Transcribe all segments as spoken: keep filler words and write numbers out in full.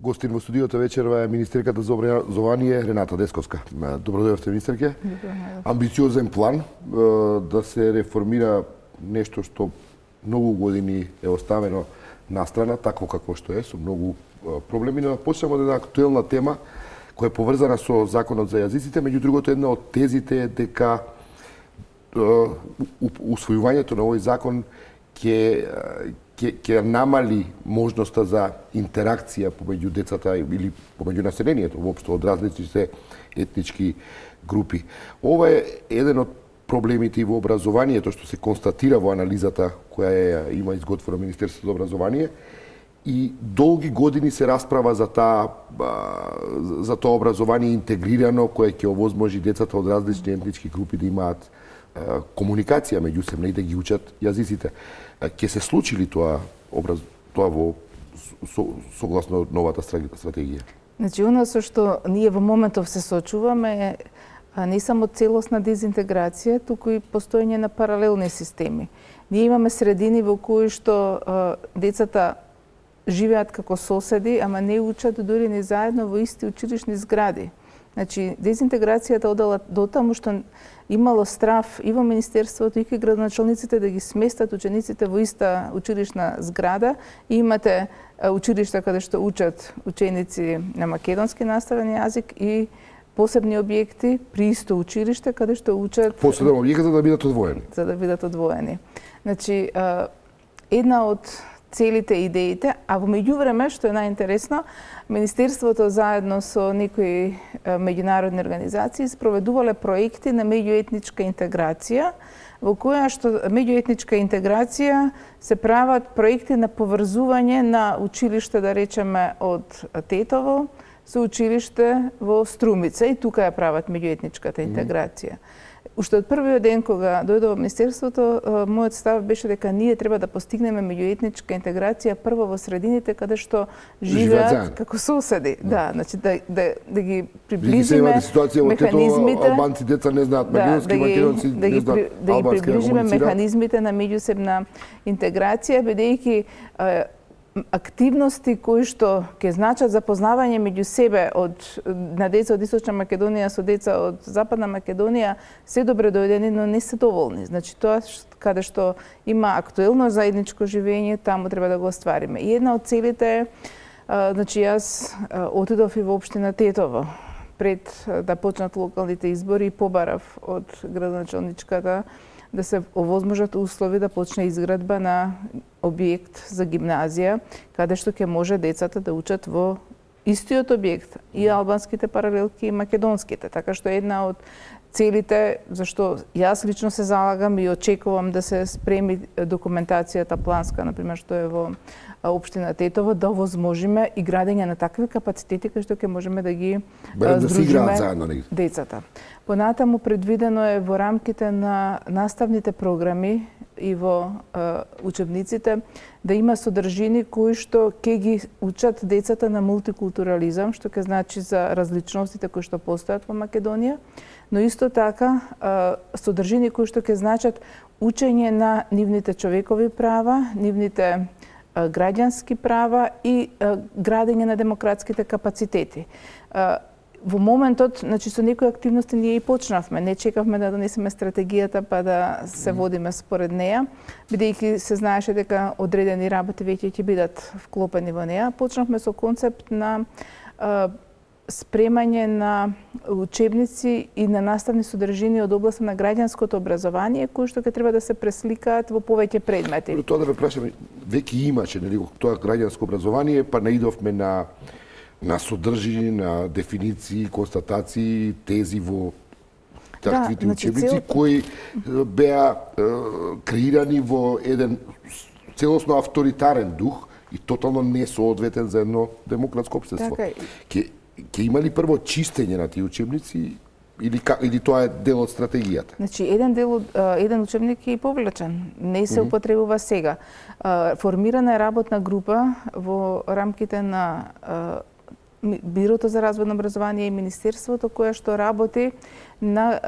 Гостин во студиото вечерва е министерката за образование Рената Десковска. Добро дојдовте, министерке. Амбициозен план да се реформира нешто што многу години е оставено настрана, такво какво што е, со многу проблеми, но почнеме од една актуелна тема која е поврзана со Законот за јазиците, меѓу другото една од тезите е дека усвојувањето на овој закон ќе ќе ќе намали можноста за интеракција помеѓу децата или помеѓу населението воопшто од различните етнички групи. Ова е еден од проблемите и во образованието што се констатира во анализата која е, има изготвено Министерството за образование, и долги години се расправа за таа за тоа образование интегрирано кое ќе овозможи децата од различни етнички групи да имаат комуникација меѓусебна и да ги учат јазиците. Ќе се случи ли тоа образ тоа во со, согласно новата стратегија? Значи, оно со што ние во моментов се соочуваме е не само целосна дезинтеграција, туку и постоење на паралелни системи. Ние имаме средини во кои што а, децата живеат како соседи, ама не учат дури ни заедно во исти училишни згради. Значи, дезинтеграцијата одела до таму што имало страв и во Министерството, и кај градоначалниците да ги сместат учениците во иста училишна зграда. И имате училишта каде што учат ученици на македонски наставен јазик и посебни објекти при исто училиште каде што учат посебни објекти за да бидат одвоени. За да бидат одвоени. Значи, една од целите идеите, а во меѓувреме, што е најинтересно, Министерството заедно со некои меѓународни организации спроведувале проекти на меѓуетничка интеграција, во која што меѓуетничка интеграција се прават проекти на поврзување на училиште, да речеме, од Тетово со училиште во Струмица, и тука ја прават меѓуетничката интеграција. Уште од првиот ден кога дојдов во Министерството, мојот став беше дека ние треба да постигнеме меѓуетничка интеграција прво во средините каде што живеат како соседи. Да, значи да да да ги приближиме механизмите. Албанци деца не знаат македонски, македонци не знаат албански. Да ги приближиме механизмите на меѓусебна интеграција, бидејќи активности кои што ќе значат запознавање меѓу себе од на деца од Источна Македонија со деца од Западна Македонија се добре дојдени, но не се доволни. Значи тоа каде што има актуелно заедничко живење, таму треба да го оствариме. И една од целите е, значи јас отидов и во општина Тетово пред да почнат локалните избори и побарав од градоначалничката да се овозможат услови да почне изградба на објект за гимназија, каде што ќе може децата да учат во истиот објект, и албанските паралелки и македонските. Така што една од целите, зашто јас лично се залагам и очекувам да се спреми документацијата планска, например, што е во општина Тетово, да овозможиме и градење на такви капацитети кои што ќе можеме да ги здружиме децата. Понатаму предвидено е во рамките на наставните програми и во е, учебниците да има содржини кои што ќе ги учат децата на мултикултурализам, што ќе значи за различностите кои што постојат во Македонија, но исто така е, содржини кои што ќе значат учење на нивните човекови права, нивните е, граѓански права и е, градење на демократските капацитети. Е, Во моментот, значи со некои активности ние и почнавме, не чекавме да донесеме стратегијата па да се водиме според неја, бидејќи се знаеше дека одредени работи веќе ќе бидат вклопени во неја. Почнавме со концепт на а, спремање на учебници и на наставни содржини од областа на граѓанското образование, кои што ќе треба да се пресликаат во повеќе предмети. Тоа да ве прашаме, веќе имаше нели тоа граѓанско образование, па наидовме на на содржини, на дефиниции, констатации, тези во таквите да, учебници, цел... кои беа е, креирани во еден целосно авторитарен дух и тотално несоодветен за едно демократско општество. Така... Ке, ке има ли прво чистење на тие учебници или, или тоа е дел од стратегијата? Значи, еден дел од еден учебник е повлечен, не се употребува сега. Формирана е работна група во рамките на Бирото за развојно образование и Министерството, кое што работи на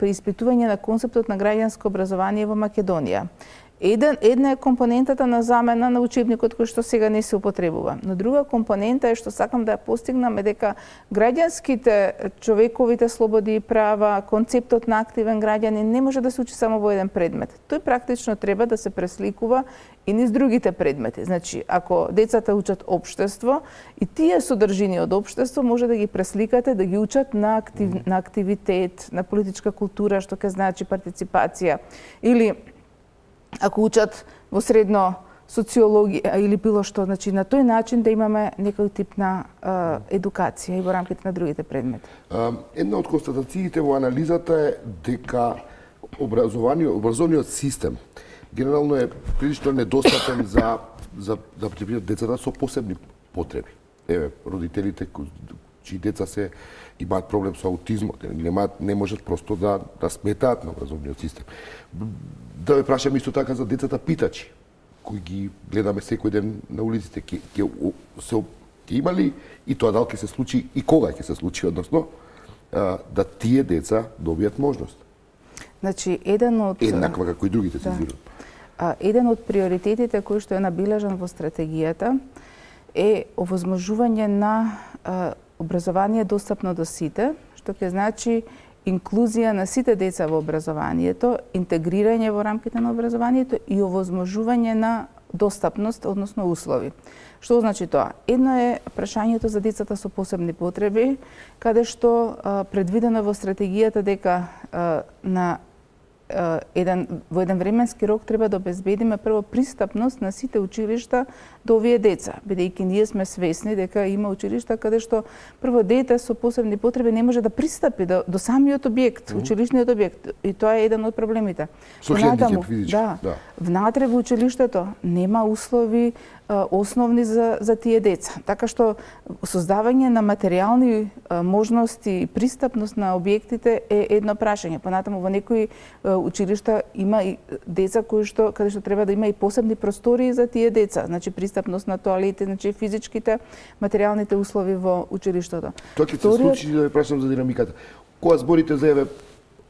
преиспитување на концептот на граѓанско образование во Македонија. Еден, една е компонентата на замена на учебникот кој што сега не се употребува. Но друга компонента е што сакам да ја постигнам е дека граѓанските, човековите слободи и права, концептот на активен граѓанин не може да се учи само во еден предмет. Тој практично треба да се пресликува и низ другите предмети. Значи, ако децата учат општество, и тие содржини од општество може да ги пресликате, да ги учат на, актив, на активитет, на политичка култура, што ќе значи партиципација, или ако учат во средно социологија или било што, значи на тој начин да имаме некој тип на а, едукација и во рамките на другите предмети. Една од констатациите во анализата е дека образованиот, образовниот систем генерално е прилично недостапен за за да потребуваат децата со посебни потреби. Еве, родителите чии деца се имаат проблем со аутизмот, немаат, не можат просто да да сметаат на образовниот систем. Да ве прашам исто така за децата питачи, кои ги гледаме секој ден на улиците, ќе ќе се ќе има ли и тоа дали ќе се случи и кога ќе се случи, односно да тие деца добијат можност. Значи, еден од еднаква како и другите се избират. Да. Еден од приоритетите кој што е набележан во стратегијата е овозможување на а, образование достапно до сите, што ќе значи инклузија на сите деца во образованието, интегрирање во рамките на образованието и овозможување на достапност, односно услови. Што значи тоа? Едно е прашањето за децата со посебни потреби, каде што а, предвидено во стратегијата дека а, на еден во еден временски рок треба да обезбедиме прво пристапност на сите училишта до овие деца, бидејќи ние сме свесни дека има училишта каде што прво дете со посебни потреби не може да пристапи до, до самиот објект, mm -hmm. училишниот објект, и тоа е еден од проблемите. Со хендикеп физички. Да, да. Внатре во училиштето нема услови а, основни за за тие деца. Така што создавање на материјални а, можности и пристапност на објектите е едно прашање. Понатаму во некои а, училишта има и деца кои што каде што треба да има и посебни простории за тие деца, значи пристапност на тоалети, значи физичките, материјалните услови во училиштето. Тоа ќе се случи, да ве прашам за динамиката. Кога зборите за еве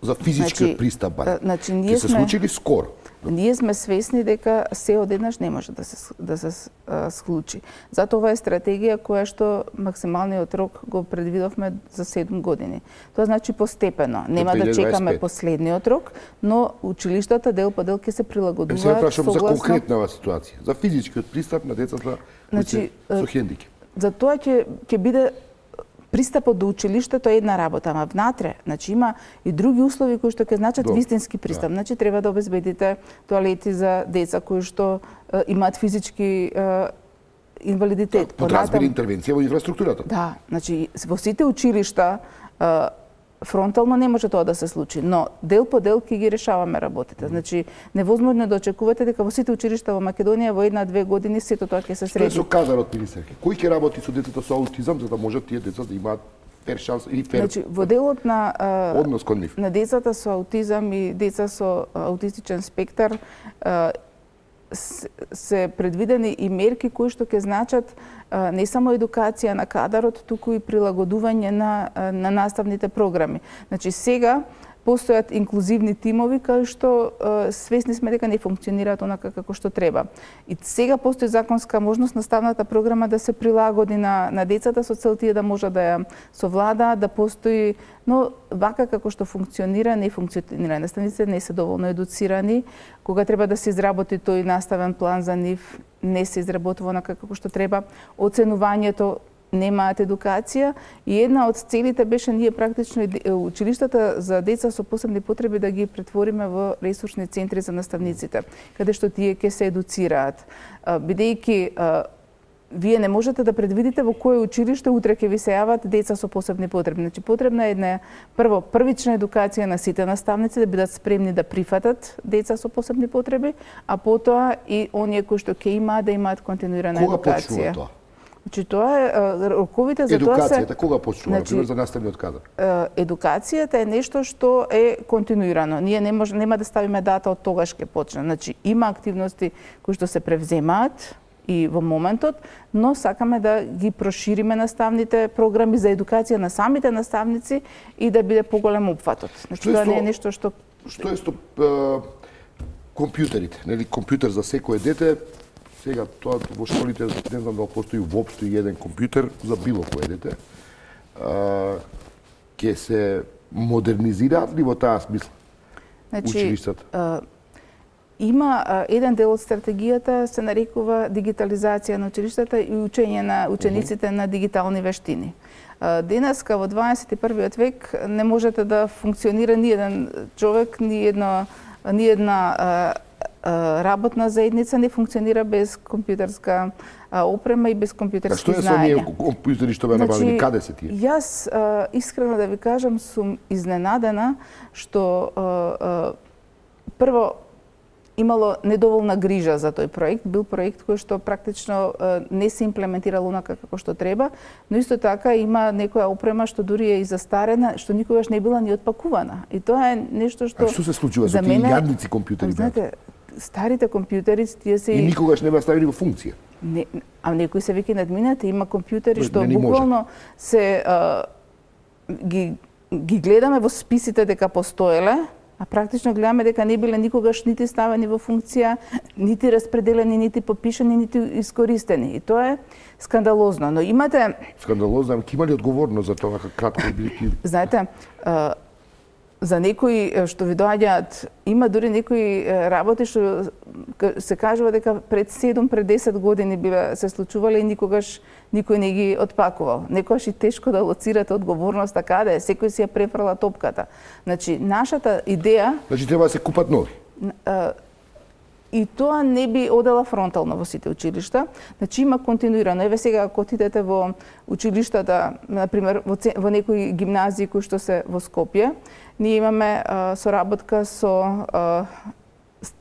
за физички значи, пристап, значи ние ќе се случи ли скоро? Ние сме свесни дека се одеднаш не може да се да се а, случи. Затоа ова е стратегија која што максималниот рок го предвидовме за седум години. Тоа значи постепено. Нема да чекаме последниот рок, но училиштата дел по дел ќе се прилагодуваат. Се прашам согласно... за конкретна ситуација, за физичкиот пристап на децата значи, со хендикеп. За тоа ќе ќе биде пристапот до училиштето е една работа, ама внатре, значи има и други услови кои што ќе значат вистински пристап. Да. Значи треба да обезбедите тоалети за деца кои што е, имаат физички е, инвалидитет. Да, подразбери интервенција во инфраструктурата. Да, значи во сите училишта е, фронтално не може тоа да се случи, но дел по дел ќе ги решаваме работите. Значи невозможно е да очекувате дека во сите училишта во Македонија во една-две години сето тоа ќе се среди. Што е со кадарот, министерке? Кој ќе работи со децата со аутизам за да можат тие деца да имаат фер шанс или фер значи во делот на а, однос кон нив на децата со аутизам и деца со аутистичен спектар а, се предвидени и мерки кои што ќе значат а, не само едукација на кадарот, туку и прилагодување на, на наставните програми. Значи сега постојат инклузивни тимови кои што а, свесни сме дека не функционираат онака како што треба. И сега постои законска можност наставната програма да се прилагоди на, на децата со цел тие да може да ја совладаат, да постои, но вака како што функционира, не функционира. Наставниците не се доволно едуцирани, кога треба да се изработи тој наставен план за нив, не се изработува онака како што треба. Оценувањето немаат едукација и една од целите беше ние практично училиштата за деца со посебни потреби да ги претвориме во ресурсни центри за наставниците, каде што тие ќе се едуцираат. Бидејќи вие не можете да предвидите во кое училиште утре ќе ви се јават деца со посебни потреби. Значи потребна е една прво првична едукација на сите наставници да бидат спремни да прифатат деца со посебни потреби, а потоа и оние кои што ќе имаат да имаат континуирана Кога едукација. Кога почнува тоа? Значи тоа е роковите за тоа се Едукацијата кога почнува, значи, например за наставниот кадар? Едукацијата е нешто што е континуирано. Ние не може нема да ставиме дата од тогаш ќе почне. Значи има активности кои што се превземаат и во моментот, но сакаме да ги прошириме наставните програми за едукација на самите наставници и да биде поголем опфатот. Значи тоа не е нешто што Што е сто компјутерите, нели компјутер за секое дете. Сега тоа во школите не знам дали постои воопшто еден компјутер за било кое дете. А, ке се модернизираат ли во таа смисла? Значи, училиштата? Има а, еден дел од стратегијата се нарекува дигитализација на училиштата и учење на учениците uh -huh. на дигитални вештини. А, денеска во дваесет и првиот век не можете да функционира ни еден човек, ни една ни една а, а, работна заедница не функционира без компјутерска а, опрема и без компјутерски знаења. А што е со оние компјутери што беа набавени? Значи, каде се тие? Јас а, искрено да ви кажам сум изненадена што а, а, прво имало недоволна грижа за тој проект. Бил проект кој што практично не се имплементирал онака како што треба, но исто така има некоја опрема што дури е и застарена, што никогаш не била ни отпакувана. И тоа е нешто што... А што се случува со тие јадници компјутери? Знаете, старите компјутери, тие се... И никогаш не беа ставени во функција? Не, а некои се веќе надминати, има компјутери што буквално се... А, ги, ги гледаме во списите дека постоеле, а практично гледаме дека не биле никогаш нити ставени во функција, нити распределени, нити попишани, нити искористени. И тоа е скандалозно. Но имате... Скандалозно, ке има ли одговорност за тоа кратко бидејќи... Знаете, за некои што ви доаѓаат, има дури некои работи што се кажува дека пред седум, пред десет години биле се случувале и никогаш никој не ги отпакувал. Некогаш и тешко да лоцирате одговорноста каде е, секој си ја префрла топката. Значи, нашата идеја... Значи, треба да се купат нови? И тоа не би одела фронтално во сите училишта. Значи, има континуирано. Еве сега, ако отидете во училиштата, например, во, во некои гимназии кои што се во Скопје, ние имаме а, соработка со а,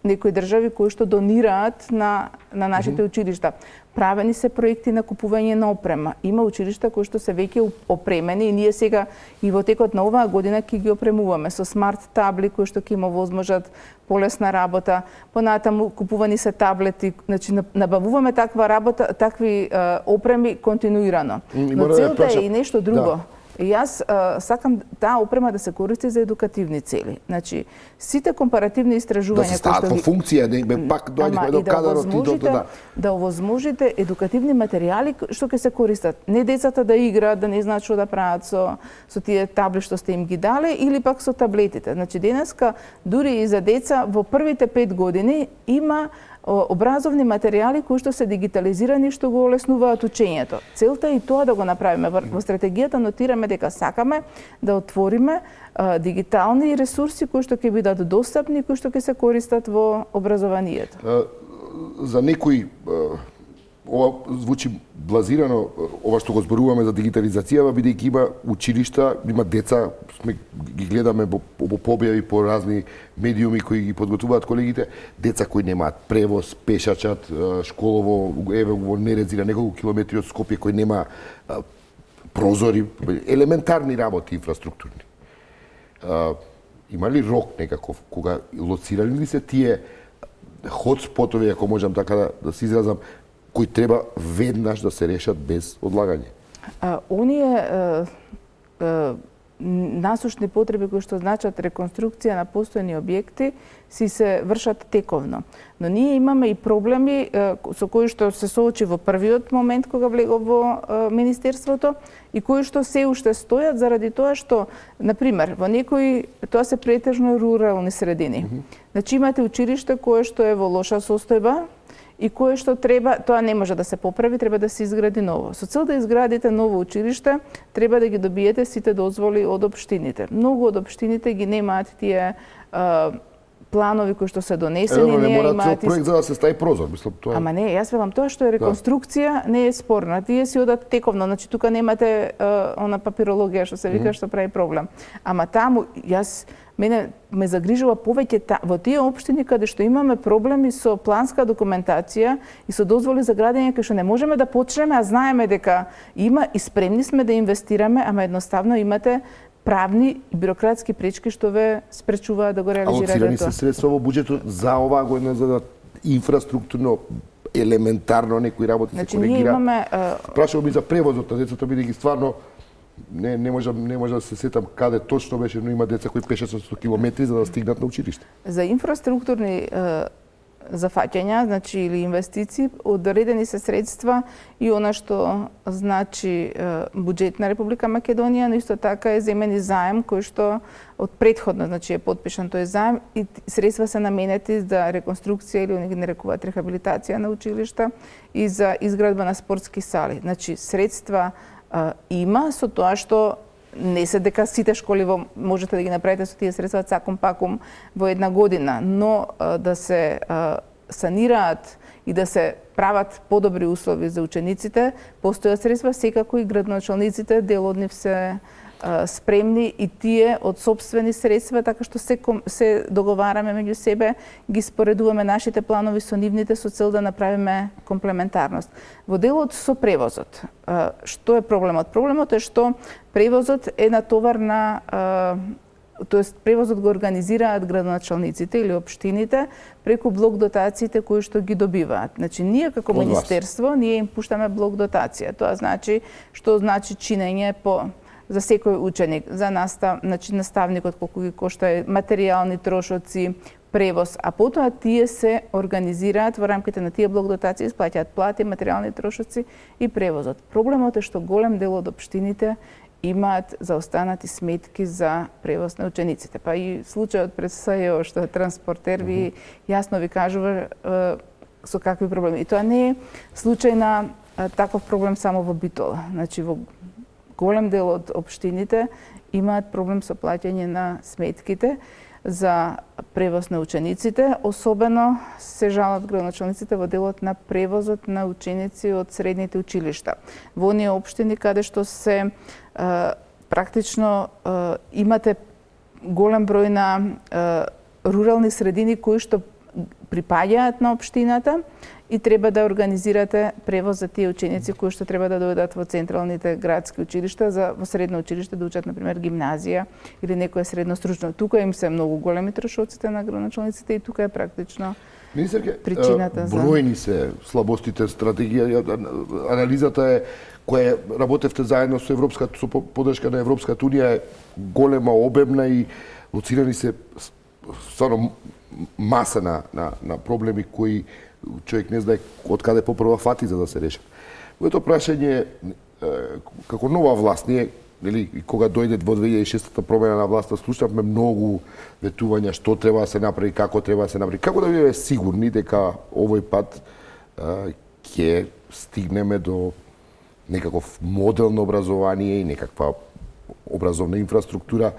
некои држави кои што донираат на, на нашите mm -hmm. училишта. Правени се проекти на купување на опрема. Има училишта кои што се веќе опремени и ние сега и во текот на оваа година ќе ги опремуваме со смарт табли кои што ќе им овозможат полесна работа. Понатаму купувани се таблети, значи набавуваме таква работа, такви а, опреми континуирано. Но целта е и нешто друго. Да. И јас а, сакам таа опрема да се користи за едукативни цели. Значи, сите компаративни истражувања да се стават во функција, да им пак доаѓаме до кадарот и до да да овозможите едукативни материјали што ќе се користат. Не децата да играат, да не знаат што да прават со со тие табли што сте им ги дале или пак со таблетите. Значи, денеска дури и за деца во првите пет години има образовни материјали кои што се дигитализирани што го олеснуваат учењето. Целта е и тоа да го направиме. Во стратегијата нотираме дека сакаме да отвориме а, дигитални ресурси кои што ќе бидат достапни, кои што ќе се користат во образованието. А, за некои ова звучи блазирано, ова што го зборуваме за дигитализација, бидејќи има училишта, има деца, сме ги гледаме во, во побјави по разни медиуми кои ги подготвуваат колегите, деца кои немаат превоз, пешачат, школово, еве во Нерези на неколку километри од Скопје, кои нема прозори, елементарни работи инфраструктурни. Има ли рок некаков кога лоцирани ли се тие хотспотови, ако можам така да, да се изразам, кои треба веднаш да се решат без одлагање? А, оние а, а, насушни потреби кои што значат реконструкција на постојни објекти си се вршат тековно. Но ние имаме и проблеми а, со кои што се соочи во првиот момент кога влегов во а, Министерството и кои што се уште стојат заради тоа што, например, во некои, тоа се претежно рурални средини. Mm -hmm. Значи имате училиште кое што е во лоша состојба, и кое што треба, тоа не може да се поправи, треба да се изгради ново. Со цел да изградите ново училиште, треба да ги добиете сите дозволи од општините. Многу од општините ги немаат тие а, планови кои што се донесени, е, не, не имаат цел проект за да се стави прозор, мислам тоа. Ама не, јас велам тоа што е реконструкција, да. Не е спорна. Тие си одат тековно, значи тука немате а, она папирологија што се вика mm -hmm. што прави проблем. Ама таму јас мене ме загрижува повеќе та, во тие општини каде што имаме проблеми со планска документација и со дозволи за градење кај што не можеме да почнеме, а знаеме дека има и спремни сме да инвестираме, ама едноставно имате правни и бирократски пречки што ве спречуваат да го реализирате тоа. Алоцирани се средства во буџетот за оваа година за да инфраструктурно елементарно некои работи значи, се коригира. Ние имаме Прашувам и за превозот на децата, бидејќи стварно не не можам не можам да се сетам каде точно беше, но има деца кои пешат со сто километри за да стигнат на училиште. За инфраструктурни е, зафаќања, значи или инвестиции, одредени се средства и она што значи е, буџет на Република Македонија, но исто така е земен и заем кој што од претходно значи е подпишан тој заем и средства се наменети за реконструкција или они ги нарекуваат рехабилитација на училишта и за изградба на спортски сали. Значи средства е, има со тоа што не се дека сите школи во, можете да ги направите со тие средства цаком паком во една година, но а, да се а, санираат и да се прават подобри услови за учениците, постојат средства, секако и градоначалниците, дел од нив се а, спремни и тие од сопствени средства, така што се, се договараме меѓу себе, ги споредуваме нашите планови со нивните со цел да направиме комплементарност. Во делот со превозот, а, што е проблемот? Проблемот е што превозот е натовар на, тоест превозот го организираат градоначалниците или општините преку блок дотациите кои што ги добиваат. Значи ние како министерство ние им пуштаме блок дотација. Тоа значи што значи чинење по за секој ученик, за настав, значи наставникот колку ги кошта материјални трошоци, превоз, а потоа тие се организираат во рамките на тие блок дотации, исплаќаат плати, материјални трошоци и превозот. Проблемот е што голем дел од општините имаат заостанати сметки за превоз на учениците. Па и случајот пред СЈО што е транспортер ви јасно ви кажува е, со какви проблеми. И тоа не е случај на е, таков проблем само во Битола. Значи во голем дел од општините имаат проблем со плаќање на сметките за превоз на учениците, особено се жалат градоначалниците во делот на превозот на ученици од средните училишта. Во оние општини каде што се е, практично е, имате голем број на е, рурални средини кои што припаѓаат на општината и треба да организирате превоз за тие ученици кои што треба да дојдат во централните градски училишта, за во средно училиште да учат, например, гимназија или некое средно стручно. Тука им се многу големи трошоците на градоначалниците и тука е практично Министерке, причината за... бројни се слабостите, стратегија, анализата е која работевте заедно со Европската, со подршка на Европската Унија е голема, обемна и лоцирани се стварно маса на, на, на проблеми кои човек не знае од каде попрва фати за да се решат. Моето прашање како нова власт, ние, нели, кога дојде во две илјади и шеста промена на власта, слушавме многу ветувања што треба да се направи, како треба да се направи. Како да бидеме сигурни дека овој пат ќе стигнеме до некаков модел на образование и некаква образовна инфраструктура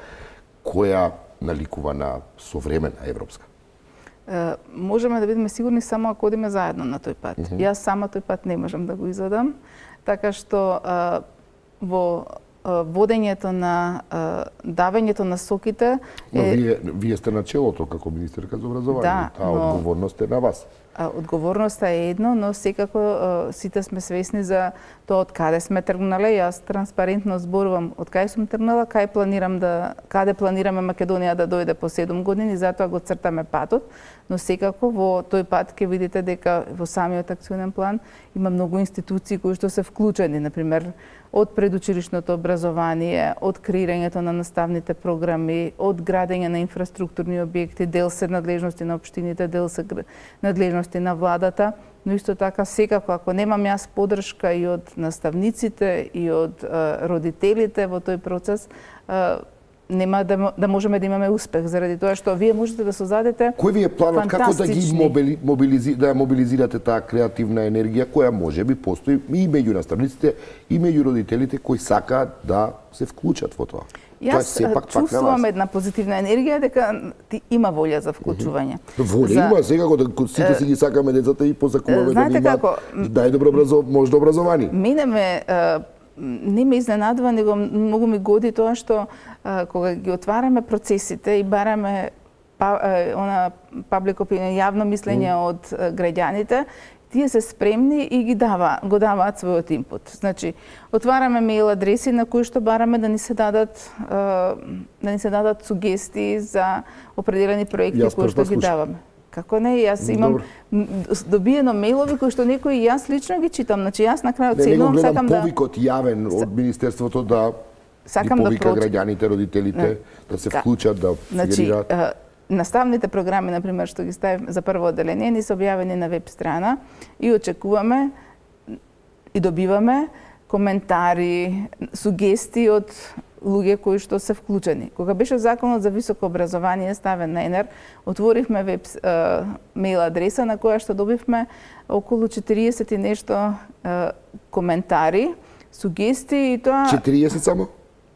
која наликува на современа европска? Uh, можеме да бидеме сигурни само ако одиме заедно на тој пат. Mm -hmm. Јас сама тој пат не можам да го изодам, така што uh, во uh, водењето на uh, давењето на соките е... Но вие, вие сте на челото како министерка за образование, да, таа но... одговорност е на вас. Одговорноста е едно, но секако сите сме свесни за тоа од каде сме тргнале. Јас транспарентно зборувам од каде сум тргнала, кај планирам да каде планираме Македонија да дојде по седум години, затоа го цртаме патот, но секако во тој пат ќе видите дека во самиот акционен план има многу институции кои што се вклучени, например од предучилишното образование, од креирањето на наставните програми, од градење на инфраструктурни објекти, дел се надлежности на општините, дел се надлежности на владата, но исто така секако ако немам јас подршка и од наставниците и од а, родителите во тој процес, а, нема да, да можеме да имаме успех, заради тоа што вие можете да созадете кој ви е планот како да ги мобили, мобилизи, да мобилизирате таа креативна енергија која можеби постои и меѓу наставниците и меѓу родителите кои сакаат да се вклучат во тоа? Јас чувствувам една позитивна енергија дека ти има волја за вклучување. Волја за... има, секако да сите си ги сакаме децата и посакуваме да ги имаат најдобро образов... можно образование. Мене ме не ме изненадува, него многу ми годи тоа што а, кога ги отвараме процесите и бараме па, а, она паблик опинион, јавно мислење mm. од а, граѓаните, тие се спремни и ги дава, го даваат својот инпут. Значи, отвараме мејл адреси на кои што бараме да ни се дадат а, да ни се дадат сугестии за определени проекти кои што ги даваме. Како не, јас имам добиено мејлови кои што некои јас лично ги читам. Значи јас на крајот седнувам, сакам да... повикот јавен од Министерството да сакам да повика граѓаните, родителите да се вклучат, да сугерираат. Значи, наставните програми, например, што ги ставим за прво одделение, ни се објавени на веб страна и очекуваме и добиваме коментари, сугестии од луѓе кои што се вклучени. Кога беше законот за високо образование ставен на ЕНЕР, отворивме веб мејл адреса на која што добивме околу четириесет и нешто коментари, сугестии и тоа четириесет само?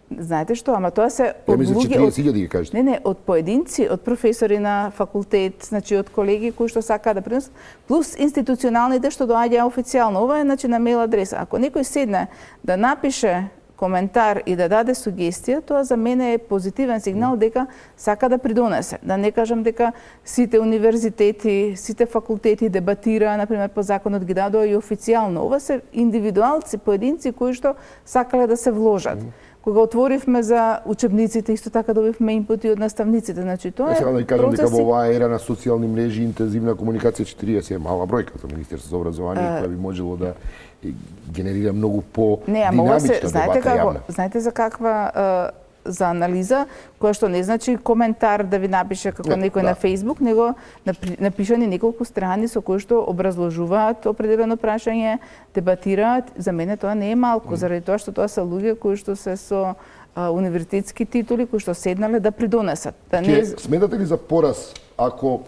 Знаете што, ама тоа се од луѓе четириесет илјади ги кажете. Не, не, од поединци, од професори на факултет, значи од колеги кои што сакаат да принесат, плюс институционалните што доаѓаа официјално. Ова е значи на мејл адреса. Ако некој седне да напише коментар и да даде сугестија, тоа за мене е позитивен сигнал дека сака да придонесе. Да не кажам дека сите универзитети, сите факултети дебатираа, например, по законот ги дадоа и официјално. Ова се индивидуалци, поединци кои што сакале да се вложат. Кога отворивме за учебниците, исто така добивме инпути од наставниците. Значи тоа е сега да кажам процеси... дека во оваа ера на социјални мрежи интензивна комуникација четириесет е мала бројка за Министерството за образование, која би можело да генерира многу по динамична дебата јавна. Знаете за каква за анализа, која што не значи коментар да ви напише како не, некој да. на Facebook, него напишани неколку страни со кои што образложуваат определено прашање, дебатираат. За мене тоа не е малку, mm. заради тоа што тоа се луѓе кои што се со а, универзитетски титули, кои што седнале да придонесат. Да не... Сметате ли за пораз ако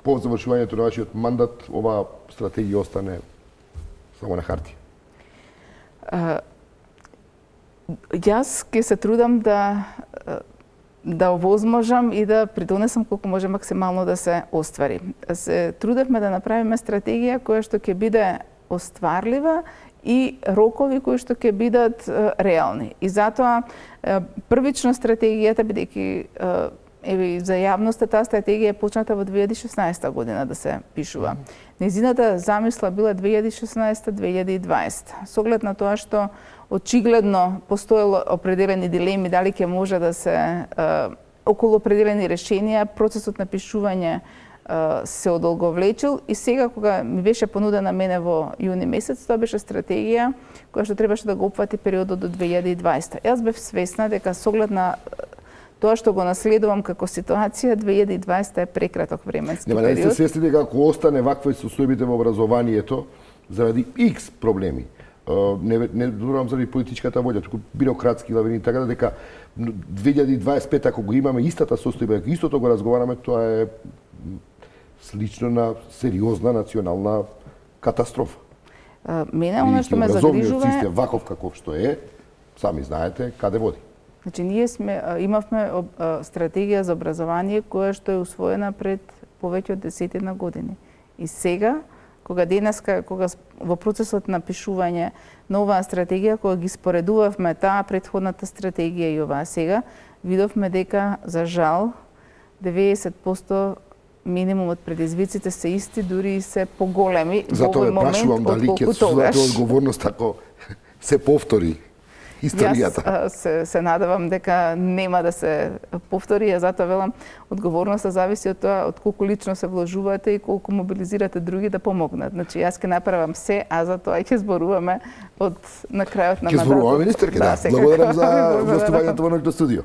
по завршувањето на вашиот мандат оваа стратегија остане само на хартија? Uh, Јас ќе се трудам да да овозможам и да придонесам колку може максимално да се оствари. Се трудевме да направиме стратегија која што ќе биде остварлива и рокови кои што ќе бидат реални. И затоа првично стратегијата, бидејќи еве за јавноста таа стратегија е почната во две илјади и шеснаесета година да се пишува. Незината замисла била две илјади и шеснаесета - две илјади и дваесета. Со оглед на тоа што очигледно постоело определени дилеми дали ќе може да се е, околу определени решенија, процесот на пишување е, се одолговлечил и сега кога ми беше понудена мене во јуни месец, тоа беше стратегија која што требаше да го опфати периодот до две илјади и дваесета. Јас бев свесна дека со оглед на тоа што го наследувам како ситуација, две илјади и дваесета е прекраток временски Нема, период. Нема, да се свесни дека ако остане вакви состојбите во образованието заради X проблеми, не не зборувам заради политичката волја, туку бирократски лавини, така да дека две илјади и дваесет и пета ако го имаме истата состојба, ако истото го разговараме, тоа е слично на сериозна национална катастрофа. А, мене оно што ме загрижува е систем ваков каков што е, сами знаете каде води. Значи ние сме имавме стратегија за образование која што е усвоена пред повеќе од десетина години. И сега кога денеска, кога во процесот на пишување на оваа стратегија, кога ги споредувавме таа претходната стратегија и оваа сега, видовме дека, за жал, деветдесет проценти минимум од предизвиците се исти, дури и се поголеми во овој момент отколку тогаш. Затоа одговорност ако се повтори историјата. Јас се, се надевам дека нема да се повтори, а затоа велам, одговорноста зависи од тоа од колку лично се вложувате и колку мобилизирате други да помогнат. Значи јас ќе направам се, а за тоа ќе зборуваме од на крајот на мандатот. Ќе зборуваме, министерке, да. да. Благодарам за гостувањето во нашето студио.